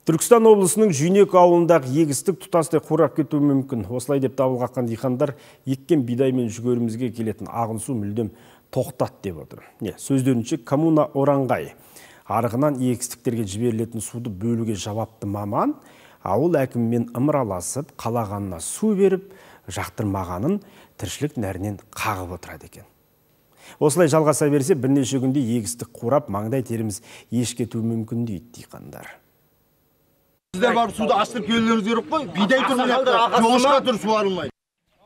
Түркістан облысының Жүйнек ауылындағы егістік тұтастай қурап кетуі мүмкін. Осылай деп дабыл қаққан диқандар еккен бидай мен жүгерімізге келетін ағын су мүлдем тоқтат деп отыр. Сөздерінше коммуна Оранғай арығынан егістіктерге жіберілетін суды бөлуге жауапты маман ауыл әкімімен ымыраласып, қалағанына су беріп, жақтырмағанын тіршілік нәрінен қағып отырады екен. Осылай жалғаса берсе, бірнеше күнде егістік қурап, маңдай теріміз еш кетуі мүмкін дейді диқандар. Сіздер барып суды ашытып келулеріңіз керек қой. Бидай жоғышқа тұр суарылмайды.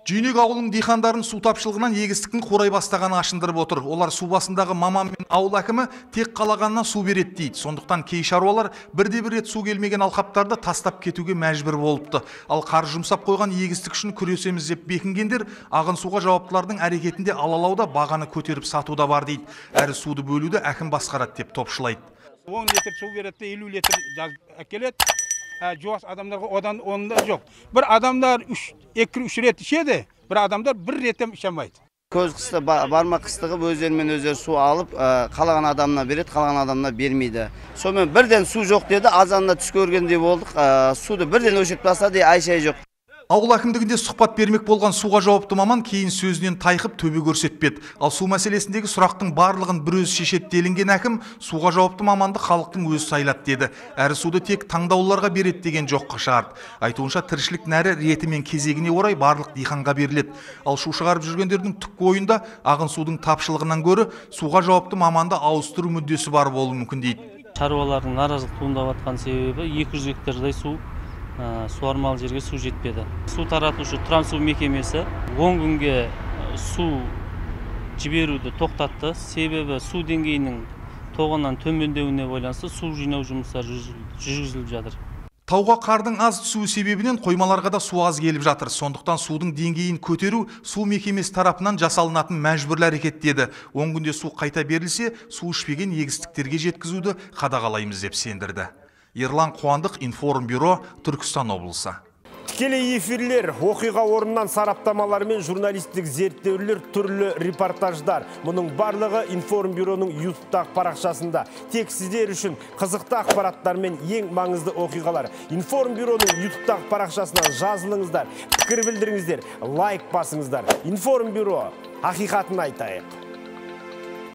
Жүйнек ауылының диқандарын су тапшылығынан егістіктің қурай бастағаны ашындырып отыр. Олар су басындағы маман мен ауыл әкімі тек қалағанына су береді дейді. Сондықтан кей шаруалар бірде-бір рет су келмеген алқаптарды тастап кетуге мәжбүр болыпты. Ал қар жұмсап қойған егістік үшін күресеміз деп бекінгендер ағын суға жауаптылардың әрекетінде алалауда бағаны көтеріп сатуда бар дейді. Әрі суды бөлуді әкім басқарады деп топшылайды. 10 литр су береді, 50 литр жазып әкеледі. Жуас адамдарға одан онда жоқ. Бір адамдар 2-3 рет ішеді, бір адамдар бір реттен ішемейді. Көз қысты бармақ қыстығып өздерімен өздері су алып, қалаған адамына береді, қалаған адамына бермейді. Сонымен бірден су жоқ деді, азанына түс көргендей болдық. Суды бірден өшіріп тастады, ай-шай жоқ. Ауыл әкімдігінде сұхбат бермек болған суға жауапты маман кейін сөзінен тайқып төбе көрсетпеді. Ал су мәселесіндегі сұрақтың барлығын бір өз шешеді делінген әкім суға жауапты маманды халықтың өзі сайлады деді. Әрі суды тек таңдаулыларға береді деген жоққа шығарды. Айтуынша тіршілік нәрі реті мен кезегіне орай барлық диқанға беріледі. Ал шу шығарып жүргендердің түпкі ойында ағын судың тапшылығынан гөрі суға жауапты маманды ауыстыру мүддесі бар болуы мүмкін дейді. Шаруалардың наразылық туындап жатқан себебі 200 гектардай суармалы жерге су жетпеді. Су таратушы Трансу мекемесі 10 күнге су жіберуді тоқтатты. Себебі су деңгейінің тоғынан төмендеуіне байланысты су жинау жұмыстары жүргізіліп жатыр. Тауға қардың аз түсуі себебінен қоймаларға да су аз келіп жатыр. Сондықтан судың деңгейін көтеру су мекемесі тарапынан жасалынатын мәжбүрлі әрекет деді. 10 күнде су қайта берілсе, су ішпеген егістіктерге жеткізуді қадағалаймыз деп сендірді. Ерлан Қуандық, Информбюро, Түркістан облысы. Тікелей эфирлер, оқиға орнынан сараптамалар мен журналистік зерттеулер, түрлі репортаждар. Мұның барлығы Информбюроның YouTube-тағы парақшасында. Тек сіздер үшін қызықты ақпараттар мен ең маңызды оқиғалар. Информбюроның YouTube-тағы парақшасынан жазылыңыздар, пікір білдіріңіздер, лайк басыңыздар. Информбюро, ақиқатын айтайық.